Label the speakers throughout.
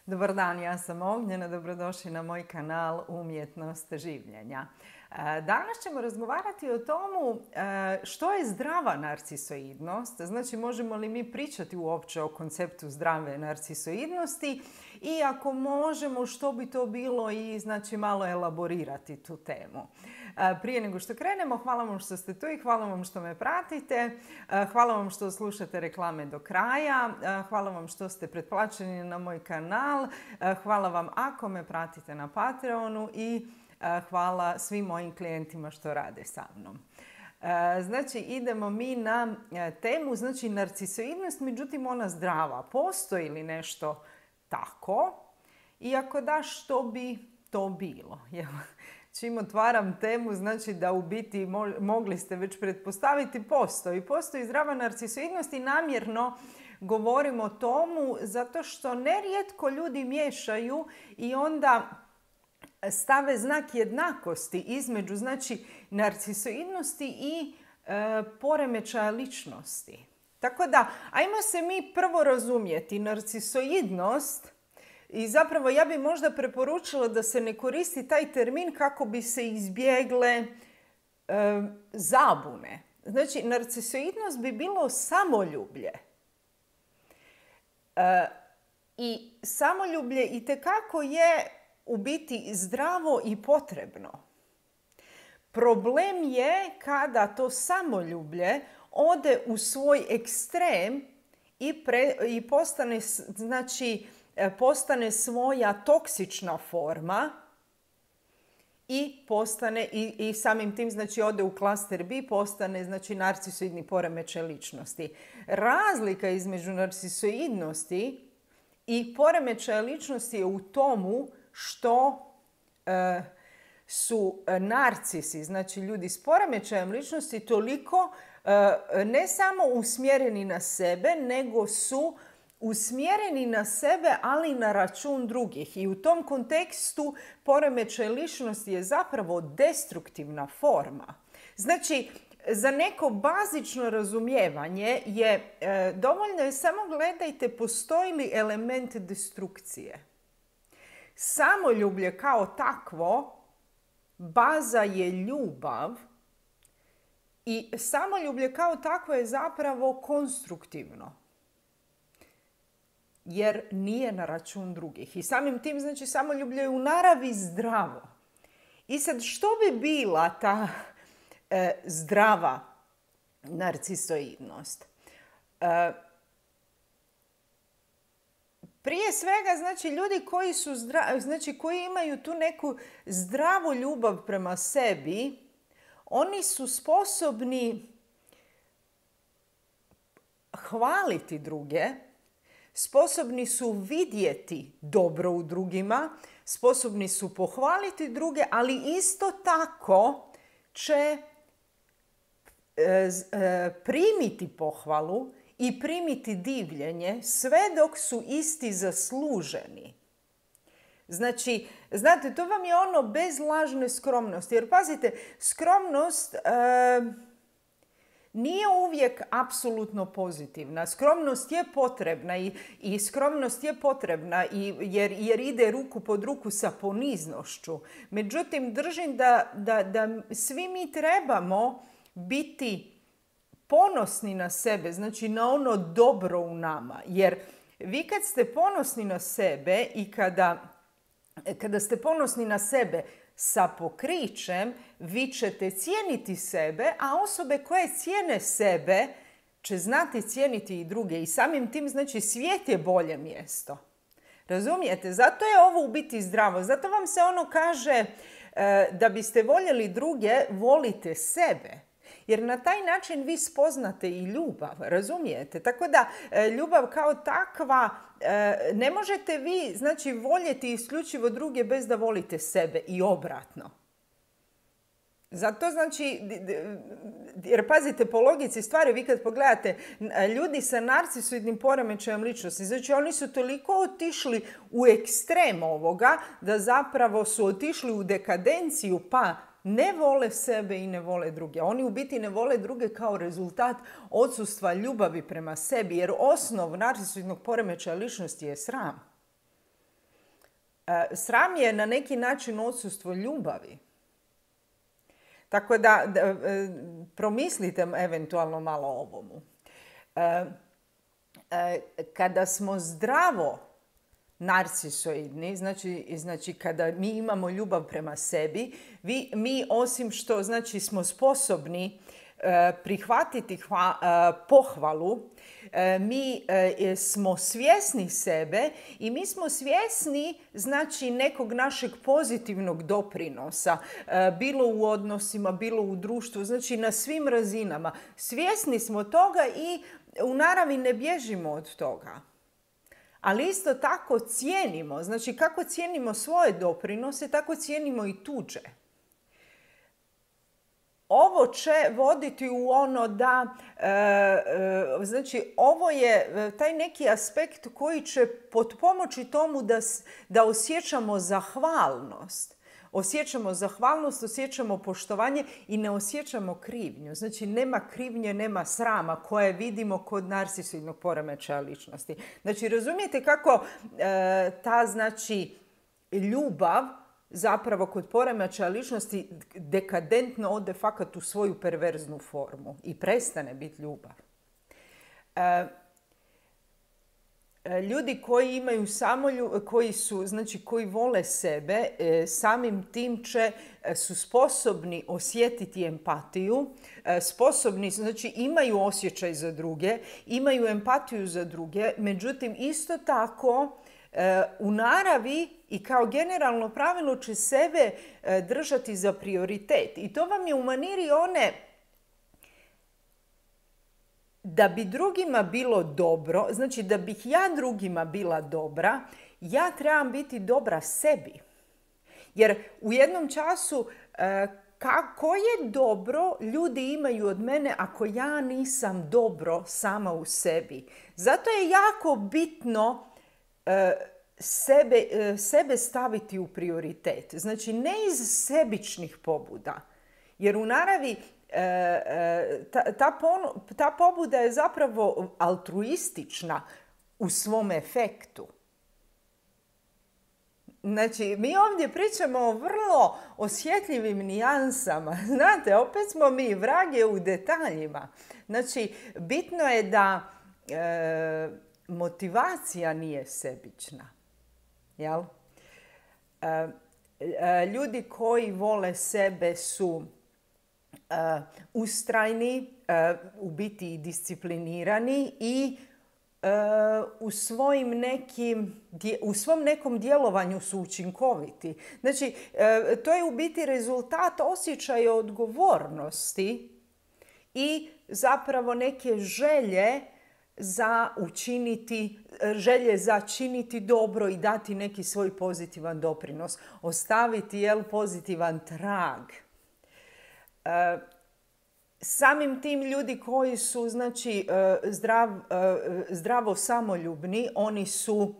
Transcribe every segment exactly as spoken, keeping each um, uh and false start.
Speaker 1: Dobar dan, ja sam Ognjena, dobrodošli na moj kanal Umjetnost življenja. Danas ćemo razgovarati o tomu što je zdrava narcisoidnost, znači možemo li mi pričati uopće o konceptu zdrave narcisoidnosti i ako možemo što bi to bilo i znači malo elaborirati tu temu. Prije nego što krenemo, hvala vam što ste tu i hvala vam što me pratite, hvala vam što slušate reklame do kraja, hvala vam što ste pretplaćeni na moj kanal, hvala vam ako me pratite na Patreonu i hvala svim mojim klijentima što rade sa mnom. Znači, idemo mi na temu, znači narcisoidnost, međutim ona zdrava. Postoji li nešto tako? I ako da, što bi to bilo? Čim otvaram temu, znači da u biti mogli ste već pretpostaviti postoji. Postoji zdrava narcisoidnost i namjerno govorim o tomu zato što nerijetko ljudi miješaju i onda stave znak jednakosti između znači narcisoidnosti i e, poremećaja ličnosti. Tako da, ajmo se mi prvo razumjeti. Narcisoidnost, i zapravo ja bi možda preporučila da se ne koristi taj termin kako bi se izbjegle e, zabune. Znači, narcisoidnost bi bilo samoljublje. E, I samoljublje itekako je u biti zdravo i potrebno. Problem je kada to samoljublje ode u svoj ekstrem i, pre, i postane, znači, postane svoja toksična forma i postane i, i samim tim znači ode u klaster B, postane znači narcisoidni poremećaj ličnosti. Razlika između narcisoidnosti i poremećaja ličnosti je u tomu što e, su narcisi, znači ljudi s poremećajem ličnosti, toliko e, ne samo usmjereni na sebe, nego su usmjereni na sebe, ali na račun drugih. I u tom kontekstu poremećaj ličnosti je zapravo destruktivna forma. Znači, za neko bazično razumijevanje je e, dovoljno je samo gledajte postoji li element destrukcije. Samoljublje kao takvo, baza je ljubav i samoljublje kao takvo je zapravo konstruktivno. Jer nije na račun drugih. I samim tim, znači, samoljublje je u naravi zdravo. I sad, što bi bila ta e, zdrava narcisoidnost? E, Prije svega, znači, ljudi koji su zdravi, znači, koji imaju tu neku zdravu ljubav prema sebi, oni su sposobni hvaliti druge, sposobni su vidjeti dobro u drugima, sposobni su pohvaliti druge, ali isto tako će e, e, primiti pohvalu i primiti divljenje sve dok su isti zasluženi. Znači, znate, to vam je ono bez lažne skromnosti. Jer pazite, skromnost e, nije uvijek apsolutno pozitivna. Skromnost je potrebna i, i skromnost je potrebna i, jer, jer ide ruku pod ruku sa poniznošću. Međutim, držim da, da, da svi mi trebamo biti ponosni na sebe, znači na ono dobro u nama. Jer vi kad ste ponosni na sebe i kada, kada ste ponosni na sebe sa pokrićem, vi ćete cijeniti sebe, a osobe koje cijene sebe će znati cijeniti i druge. I samim tim, znači, svijet je bolje mjesto. Razumijete? Zato je ovo u biti zdravo. Zato vam se ono kaže e, da biste voljeli druge, volite sebe. Jer na taj način vi spoznate i ljubav, razumijete? Tako da ljubav kao takva, ne možete vi, znači, voljeti isključivo druge bez da volite sebe i obratno. Zato znači, jer pazite, po logici stvari, vi kad pogledate ljudi sa narcisoidnim poremećajem ličnosti, znači oni su toliko otišli u ekstrem ovoga da zapravo su otišli u dekadenciju pa ne vole sebe i ne vole druge. Oni u biti ne vole druge kao rezultat odsustva ljubavi prema sebi, jer osnov narcisoidnog poremećaja ličnosti je sram. Sram je na neki način odsustvo ljubavi. Tako da, da promislite eventualno malo o ovomu. Kada smo zdravo narcisoidni, znači, znači kada mi imamo ljubav prema sebi, vi, mi osim što znači, smo sposobni prihvatiti hva, pohvalu, mi smo svjesni sebe i mi smo svjesni znači nekog našeg pozitivnog doprinosa, bilo u odnosima, bilo u društvu, znači na svim razinama. Svjesni smo toga i u naravi ne bježimo od toga. Ali isto tako cijenimo, znači kako cijenimo svoje doprinose, tako cijenimo i tuđe. Ovo će voditi u ono da, e, e, znači ovo je taj neki aspekt koji će potpomoći tomu da, da osjećamo zahvalnost. Osjećamo zahvalnost, osjećamo poštovanje i ne osjećamo krivnju. Znači nema krivnje, nema srama koje vidimo kod narcisoidnog poremećaja ličnosti. Znači razumijete kako e, ta znači ljubav zapravo kod poremećaja ličnosti dekadentno ode fakat u svoju perverznu formu i prestane biti ljubav. E, Ljudi koji imaju samoljubav, koji su, znači koji vole sebe, samim tim će, su sposobni osjetiti empatiju, sposobni, znači imaju osjećaj za druge, imaju empatiju za druge, međutim isto tako u naravi i kao generalno pravilo će sebe držati za prioritet. I to vam je u maniri one da bi drugima bilo dobro, znači da bih ja drugima bila dobra, ja trebam biti dobra sebi. Jer u jednom času kako je dobro ljudi imaju od mene ako ja nisam dobro sama u sebi. Zato je jako bitno sebe, sebe staviti u prioritet. Znači ne iz sebičnih pobuda. Jer u naravi Ta, ta, ponu, ta pobuda je zapravo altruistična u svom efektu. Znači, mi ovdje pričamo o vrlo osjetljivim nijansama. Znate, opet smo mi vrage u detaljima. Znači, bitno je da e, motivacija nije sebična. Jel? E, e, ljudi koji vole sebe su Uh, ustrajni, uh, u biti i disciplinirani i uh, u, svojim nekim, u svom nekom djelovanju su učinkoviti. Znači, uh, to je u biti rezultat osjećaja odgovornosti i zapravo neke želje za učiniti, želje za činiti dobro i dati neki svoj pozitivan doprinos. Ostaviti, jel, pozitivan trag. Uh, samim tim ljudi koji su znači, uh, zdrav, uh, zdravo samoljubni, oni, su, uh,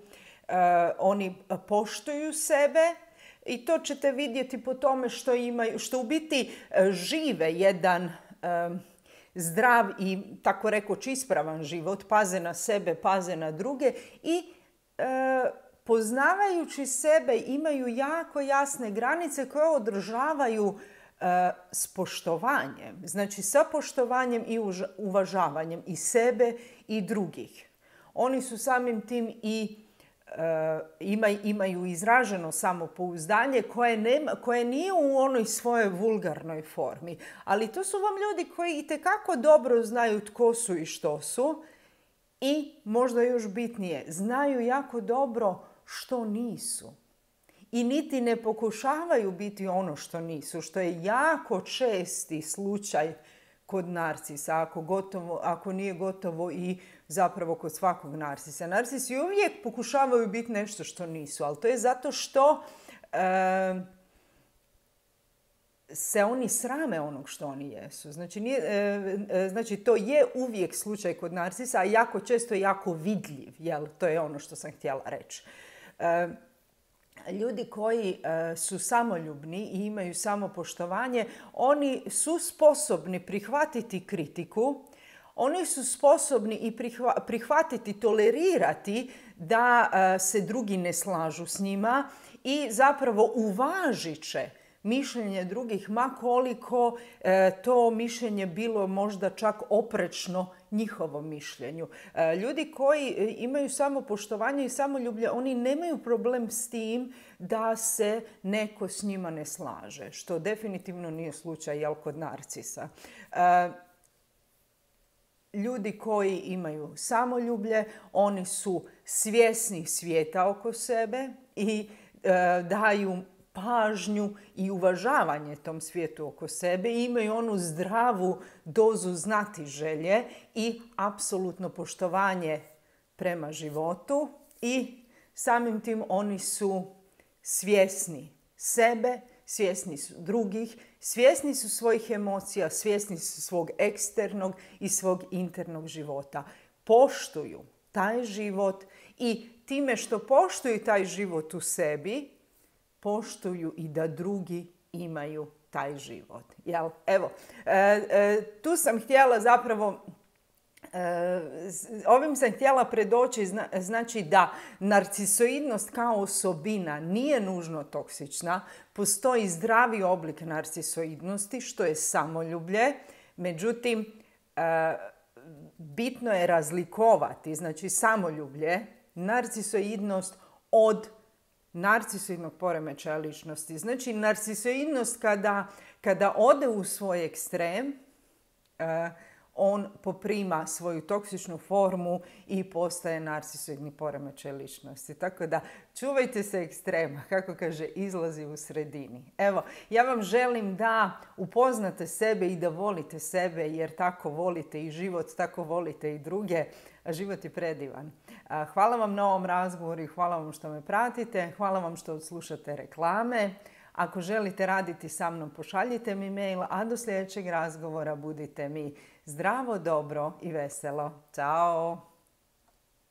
Speaker 1: oni poštuju sebe i to ćete vidjeti po tome što, imaju, što u biti uh, žive jedan uh, zdrav i tako rekoć ispravan život, paze na sebe, paze na druge i uh, poznavajući sebe imaju jako jasne granice koje održavaju s poštovanjem, znači sa poštovanjem i uvažavanjem i sebe i drugih. Oni su samim tim i e, imaju izraženo samopouzdanje koje, nema, koje nije u onoj svojoj vulgarnoj formi. Ali to su vam ljudi koji itekako dobro znaju tko su i što su i možda još bitnije, znaju jako dobro što nisu. I niti ne pokušavaju biti ono što nisu, što je jako česti slučaj kod narcisa, ako, gotovo, ako nije gotovo i zapravo kod svakog narcisa. Narcisi uvijek pokušavaju biti nešto što nisu, ali to je zato što e, se oni srame onog što oni jesu. Znači, nije, e, znači, to je uvijek slučaj kod narcisa, a jako često je jako vidljiv. Jel? To je ono što sam htjela reći. E, Ljudi koji uh, su samoljubni i imaju samopoštovanje, oni su sposobni prihvatiti kritiku, Oni su sposobni i prihvatiti, tolerirati da se drugi ne slažu s njima i zapravo uvažit će mišljenje drugih, ma koliko to mišljenje bilo možda čak oprečno njihovom mišljenju. Ljudi koji imaju samopoštovanje i samoljublje, oni nemaju problem s tim da se neko s njima ne slaže, što definitivno nije slučaj, jel, kod narcisa. Ljudi koji imaju samoljublje, oni su svjesni svijeta oko sebe i daju pažnju i uvažavanje tom svijetu oko sebe i imaju onu zdravu dozu znatiželje i apsolutno poštovanje prema životu i samim tim oni su svjesni sebe, svjesni su drugih, svjesni su svojih emocija, svjesni su svog eksternog i svog internog života. Poštuju taj život i time što poštuju taj život u sebi, poštuju i da drugi imaju taj život. Jel? Evo, e, e, tu sam htjela zapravo, e, ovim sam htjela predoći, zna, znači da narcisoidnost kao osobina nije nužno toksična. Postoji zdravi oblik narcisoidnosti, što je samoljublje. Međutim, e, bitno je razlikovati, znači samoljublje, narcisoidnost od narcisoidnog poremećaja ličnosti. Znači, narcisoidnost kada, kada ode u svoj ekstrem, eh, on poprima svoju toksičnu formu i postaje narcisoidni poremećaj ličnosti. Tako da, čuvajte se ekstrema, kako kaže, izlazi u sredini. Evo, ja vam želim da upoznate sebe i da volite sebe, jer tako volite i život, tako volite i druge. A život je predivan. Hvala vam na ovom razgovoru i hvala vam što me pratite. Hvala vam što odslušate reklame. Ako želite raditi sa mnom, pošaljite mi mail, a do sljedećeg razgovora budite mi zdravo, dobro i veselo. Ćao!